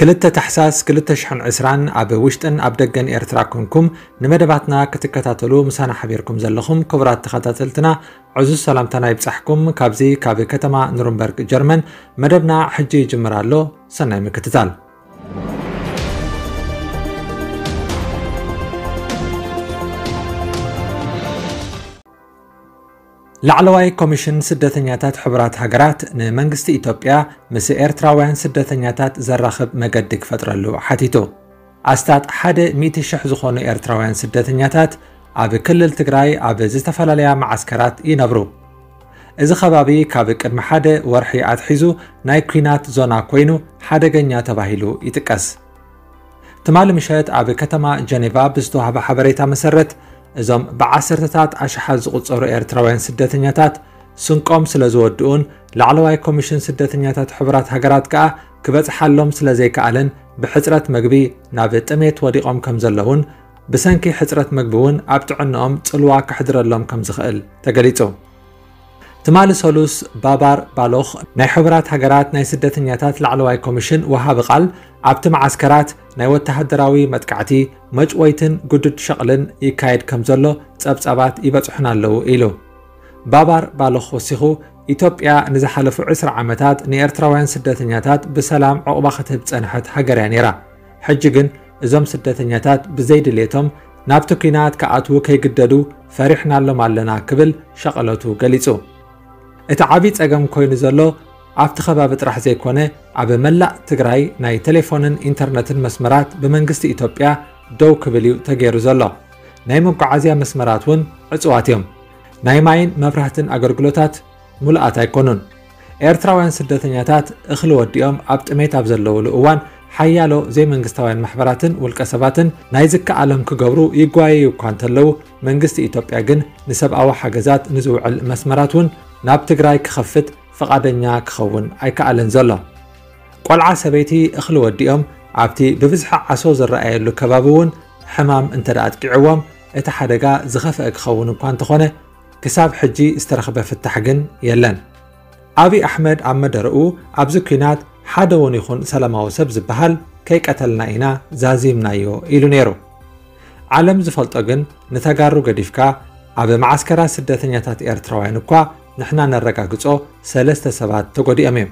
ክልተ ታሕሳስ ክልተ ሽሕን ዕስራን ኣብ ውሽጥን ኣብ ደገን ኤርትራ ኮንኩም ንመደባትና ክትከታተሉ ምሳና ሓቢርኩም ዘለኹም ክቡራት ተኸታተልትና ዕዙዝ ሰላምታና ይብጻሕኩም። ካብዚ ካብ ከተማ ኑርንበርግ ጀርመን መደብና ሕጂ ይጅምር ኣሎ። ሰናይ ምክትታል። ላዕለዋይ ኮሚሽን ስደተኛታት ሕቡራት ሃገራት ንመንግስቲ ኢትዮጵያ ምስ ኤርትራውያን ስደተኛታት ዘራኽብ መገዲ ክፈጥረሉ ሓቲቱ። ኣስታት ሓደ ሚእቲ ሽሕ ዝኾኑ ኤርትራውያን ስደተኛታት ኣብ ክልል ትግራይ ኣብ ዝተፈላለያ መዓስከራት ይነብሩ። እዚ ከባቢ ካብ ቅድሚ ሓደ ወርሒ ኣትሒዙ ናይ ኲናት ዞና ኮይኑ ሓደገኛ ተባሂሉ ይጥቀስ። ትማሊ ምሸት ኣብ ከተማ ጀኔቫ ብዝተዋህበ ሓበሬታ መሰረት፣ እዞም ብዓሰርተታት ኣሽሓት ዝቑጸሩ ኤርትራውያን ስደተኛታት ስንቆም ስለ ዝወድኡን ላዕለዋይ ኮሚሽን ስደተኛታት ሕቡራት ሃገራት ከኣ ክበጽሓሎም ስለ ዘይከኣለን ብሕጽረት መግቢ ናብ ጥሜት ወዲቖም ከም ዘለውን ብሰንኪ ሕጽረት መግቢ እውን ኣብ ጥዕንኦም ጽልዋ ከሕድረሎም ከም ዝኽእል ተገሊጹ። ትማሊ ሰሉስ ባባር ባሎኽ ናይ ሕቡራት ሃገራት ናይ ስደተኛታት ላዕለዋይ ኮሚሽን ወሃቢ ቃል ኣብቲ መዓስከራት ናይ ወተሃደራዊ መጥቃዕቲ፣ መጭወይትን ግዱድ ሸቕልን ይካየድ ከም ዘሎ ጸብጻባት ይበጽሑና ኣለዉ ኢሉ። ባባር ባሎኽ ወሲኹ፣ ኢትዮጵያ ንዝሓለፉ ዕስራ ዓመታት ንኤርትራውያን ስደተኛታት ብሰላም ዕቑባ ክትህብ ጸንሐት ሃገር እያ ነይራ። ሕጂ ግን እዞም ስደተኛታት ብዘይድሌቶም ናብቲ ኲናት ክኣትዉ ከይግደዱ ፈሪሕናሎም ኣለና ክብል ሸቐለቱ ገሊጹ። እቲ ዓብዪ ጸገም ኮይኑ ዘሎ ኣብቲ ከባቢ ጥራሕ ዘይኮነ ኣብ መላእ ትግራይ ናይ ቴሌፎንን ኢንተርነትን መስመራት ብመንግስቲ ኢትዮጵያ ደው ክብል እዩ ተገይሩ ዘሎ። ናይ መጓዓዝያ መስመራት እውን ዕጹዋት እዮም። ናይ ማይን መብራህትን ኣገልግሎታት ሙሉኣት ኣይኮኑን። ኤርትራውያን ስደተኛታት እኽሊ ወዲኦም ኣብ ጥሜት ኣብ ዘለውሉ እዋን ሓያሎ ዘይመንግስታውያን ማሕበራትን ውልቀ ሰባትን ናይ ዝከኣሎም ክገብሩ ይጓየዩ እኳ እንተለዉ መንግስቲ ኢትዮጵያ ግን ንሰብኣዊ ሓገዛት ንዝውዕል መስመራት እውን ናብ ትግራይ ክኸፍት ፍቓደኛ ክኸውን ኣይከኣለን ዘሎ። ቆልዓ ሰበይቲ እኽሊ ወዲኦም ኣብቲ ብብዝሒ ዓሶ ዝረኣየሉ ከባቢ እውን ሕማም እንተ ደኣ ኣጥቂዕዎም እቲ ሓደጋ ዝኸፍአ ክኸውን እኳ እንተኾነ ክሳብ ሕጂ ዝተረኽበ ፍታሕ ግን የለን። ኣብይ ኣሕመድ ኣብ መደረኡ ኣብዚ ኲናት ሓደ እውን ይኹን ሰላማዊ ሰብ ዝበሃል ከይቀተልና ኢና ዛዚምናዮ ኢሉ ነይሩ። ዓለም ዝፈልጦ ግን ንተጋሩ ገዲፍካ ኣብ መዓስከራት ስደተኛታት ኤርትራውያን እኳ ንሕና ነረጋግጾ ሰለስተ ሰባት ተጎዲኦም እዮም።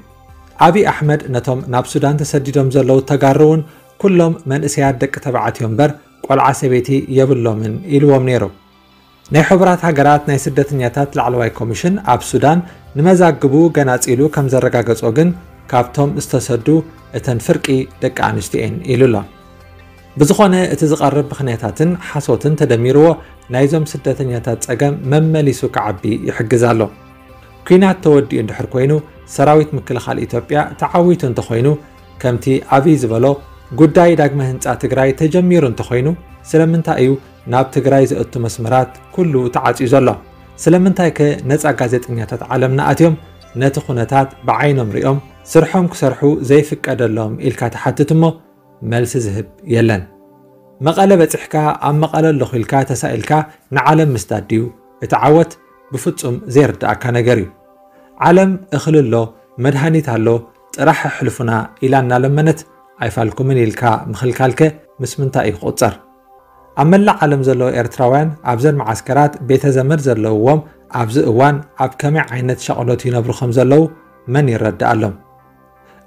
ኣብይ ኣሕመድ ነቶም ናብ ሱዳን ተሰዲዶም ዘለዉ ተጋሩ እውን ኩሎም መንእሰያት ደቂ ተባዕትዮ እምበር ቆልዓ ሰበይቲ የብሎምን ኢልዎም ነይሩ። ናይ ሕቡራት ሃገራት ናይ ስደተኛታት ላዕለዋይ ኮሚሽን ኣብ ሱዳን ንመዛግቡ ገናጺሉ ከም ዘረጋገጾ ግን ካብቶም ዝተሰዱ እተን ፍርቂ ደቂ ኣንስትዮ እየን ኢሉ ኣሎ። ብዝኾነ እቲ ዝቐርብ ምኽንያታትን ሓሶትን ተደሚርዎ ናይዞም ስደተኛታት ጸገም መመሊሱ ክዓቢ ይሕግዝ ኣሎ። ኲናት ተወዲኡ እንድሕር ኮይኑ ሰራዊት ምክልኻል ኢትዮጵያ ተዓዊቱ እንተኾይኑ ከምቲ ኣብይ ዝበሎ ጉዳይ ዳግመ ህንጻ ትግራይ ተጀሚሩ እንተኾይኑ ስለምንታይ እዩ ናብ ትግራይ ዘእቱ መስመራት ኩሉ ተዓጽዩ ዘሎ? ስለምንታይ ከ ነጻ ጋዜጠኛታት ዓለምና ኣትዮም ነቲ ኩነታት ብዓይኖም ሪኦም ስርሖም ክሰርሑ ዘይፍቀደሎም ኢልካ ትሓትት እሞ መልሲ ዝህብ የለን። መቐለ በጺሕካ ኣብ መቐለ ኣለኹ ኢልካ ተሳኢልካ ንዓለም ምስዳድ ድዩ? እቲ ዓወት ብፍጹም ዘይርድኣካ ነገር እዩ። ዓለም እኽሊ ኣሎ፣ መድሃኒት ኣሎ፣ ጥራሕ ኣሕልፉና ኢላ እናለመነት ኣይፋልኩምን ኢልካ ምኽልካልከ ምስ ምንታይ እዩ ክቑጸር? ኣብ መላእ ዓለም ዘለዉ ኤርትራውያን ኣብዘን መዓስከራት ቤተ ዘመድ ዘለውዎም ኣብዚ እዋን ኣብ ከመይ ዓይነት ሸቕሎት ይነብሩ ከም ዘለዉ መን ይረድኣሎም?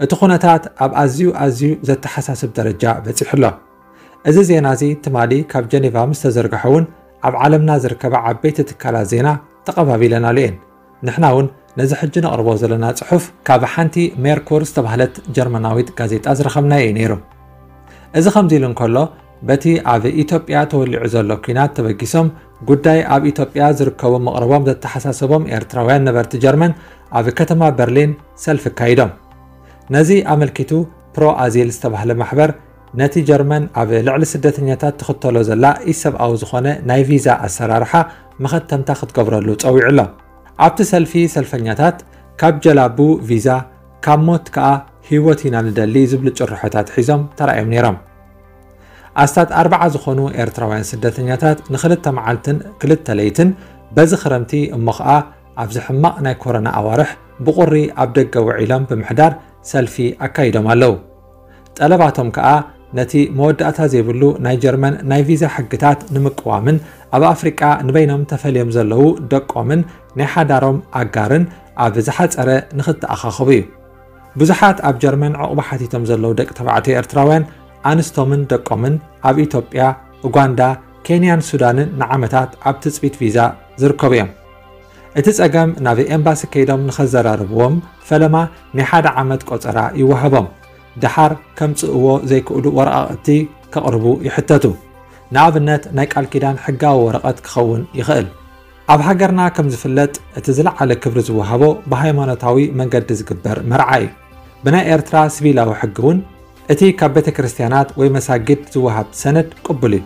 እቲ ኩነታት ኣብ ኣዝዩ ኣዝዩ ዘተሓሳስብ ደረጃ በጺሑ ኣሎ። እዚ ዜና እዚ ትማሊ ካብ ጀኔቫ ምስ ተዘርግሐ እውን ኣብ ዓለምና ዝርከባ ዓበይቲ ትካላት ዜና ተቐባቢለናሉ እየን። ንሕና እውን ነዚ ሕጂ ነቕርቦ ዘለና ጽሑፍ ካብ ሓንቲ ሜርኩር ዝተባህለት ጀርመናዊት ጋዜጣ ዝረኸብናዮ እዩ ነይሩ። እዚ ከምዚ ኢሉ እንከሎ በቲ ኣብ ኢትዮጵያ ተወሊዑ ዘሎ ኲናት ተበጊሶም ጉዳይ ኣብ ኢትዮጵያ ዝርከቡ መቕረቦም ዘተሓሳሰቦም ኤርትራውያን ነበርቲ ጀርመን ኣብ ከተማ በርሊን ሰልፊ ኣካይዶም። ነዚ ኣመልኪቱ ፕሮ ኣዚል ዝተባህለ ማሕበር ነቲ ጀርመን ኣብ ልዕሊ ስደተኛታት ትኽተሎ ዘላ ኢሰብኣዊ ዝኾነ ናይ ቪዛ ኣሰራርሓ መኸተምታ ክትገብረሉ ጸዊዑ ኣሎ። ኣብቲ ሰልፊ ሰልፈኛታት ካብ ጀላቡ ቪዛ ካብ ሞት ከኣ ህይወት ኢና ንደሊ ዝብሉ ጭርሖታት ሒዞም ተራእዮም ነይሮም። ኣስታት ኣርባዓ ዝኾኑ ኤርትራውያን ስደተኛታት ንኽልተ መዓልትን ክልተ ለይትን በዚ ክረምቲ እሞ ኸኣ ኣብዚ ሕማቕ ናይ ኮሮና ኣዋርሕ ብቑሪ ኣብ ደገ ውዒሎም ብምሕዳር ሰልፊ ኣካይዶም ኣለዉ። ጠለባቶም ከኣ ነቲ መወዳእታ ዘይብሉ ናይ ጀርመን ናይ ቪዛ ሕግታት ንምቅዋምን ኣብ ኣፍሪቃ ንበይኖም ተፈልዮም ዘለዉ ደቆምን ናይ ሓዳሮም ኣጋርን ኣብ ዝሓጸረ ንኽተኣኻኸቡ እዩ። ብዙሓት ኣብ ጀርመን ዕቑባ ሓቲቶም ዘለዉ ደቂ ተባዕትዮ ኤርትራውያን ኣንስቶምን ደቆምን ኣብ ኢትዮጵያ፣ ኡጋንዳ፣ ኬንያን ሱዳንን ንዓመታት ኣብ ትጽቢት ቪዛ ዝርከቡ እዮም። እቲ ጸገም ናብ ኤምባሲ ከይዶም ንኸዘራርብዎም ፈለማ ናይ ሓደ ዓመት ቆጸራ ይወሃቦም። ደሓር ከምጽእዎ ዘይክእሉ ወረቓቕቲ ከቕርቡ ይሕተቱ። ንኣብነት ናይ ቃል ኪዳን ሕጋዊ ወረቐት ክኸውን ይኽእል። ኣብ ሃገርና ከም ዝፍለጥ እቲ ዝለዓለ ክብሪ ዝወሃቦ ብሃይማኖታዊ መንገዲ ዝግበር መርዓ እዩ። ብናይ ኤርትራ ሲቪላዊ ሕጊ እውን እቲ ካብ ቤተ ክርስቲያናት ወይ መሳጊድ ዝወሃብ ሰነድ ቅቡል እዩ።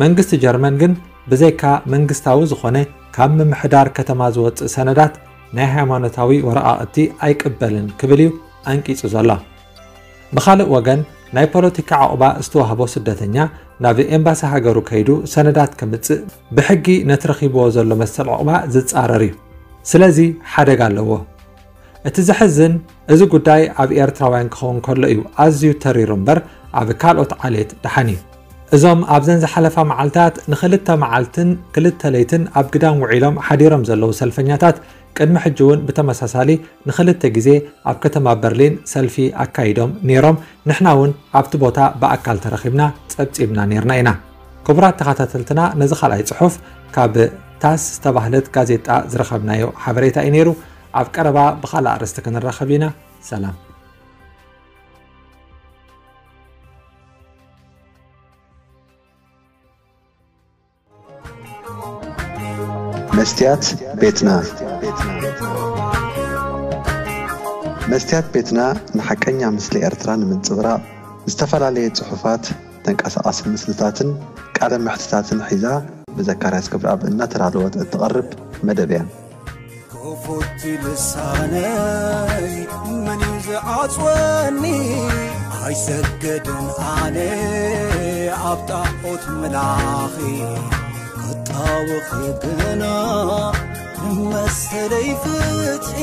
መንግስቲ ጀርመን ግን ብዘይካ መንግስታዊ ዝኾነ ካብ ምምሕዳር ከተማ ዝወጽእ ሰነዳት ናይ ሃይማኖታዊ ወረቓቕቲ ኣይቅበልን ክብል እዩ ኣንቂጹ ዘሎ። ብኻልእ ወገን ናይ ፖለቲካ ዕቑባ ዝተዋህቦ ስደተኛ ናብ ኤምባሲ ሃገሩ ከይዱ ሰነዳት ከምጽእ ብሕጊ ነቲ ረኺብዎ ዘሎ መሰል ዕቑባ ዝጻረር እዩ። ስለዚ ሓደጋ ኣለዎ። እቲ ዘሕዝን እዚ ጉዳይ ኣብ ኤርትራውያን ክኸውን ከሎ እዩ ኣዝዩ ተሪሩ እምበር ኣብ ካልኦት ዓሌት ደሓን እዩ። እዞም ኣብዘን ዝሓለፋ መዓልታት ንኽልተ መዓልትን ክልተ ለይትን ኣብ ግዳም ውዒሎም ሓዲሮም ዘለዉ ሰልፈኛታት ቅድሚ ሕጂ እውን ብተመሳሳሊ ንኽልተ ግዜ ኣብ ከተማ በርሊን ሰልፊ ኣካይዶም ነይሮም። ንሕና እውን ኣብቲ ቦታ ብኣካል ተረኺብና ጸብጺብና ነይርና ኢና። ክቡራት ተኸታተልትና፣ ነዚ ካልኣይ ጽሑፍ ካብ ታስ ዝተባህለት ጋዜጣ ዝረኸብናዮ ሓበሬታ እዩ ነይሩ። ኣብ ቀረባ ብኻልእ ኣርእስቲ ክንራኸብ ኢና። ሰላም። መስትያት ቤትና። መስትያት ቤትና ንሓቀኛ ምስሊ ኤርትራ ንምንጽብራቕ ዝተፈላለየ ጽሑፋት፣ ተንቀሳቓሲ ምስልታትን ቃለ መሕትታትን ሒዛ ብዘካርያስ ገብረኣብ እናተዳለወት እትቐርብ መደብ እያ። ክፉት ልሳነይ መን እዩ ዝዓጽወኒ? ኣይሰግድን ኣነ ኣብ ጣዖት ምላኺ፣ ክጣወኺ ግና ንመሰለይ ፍትሒ።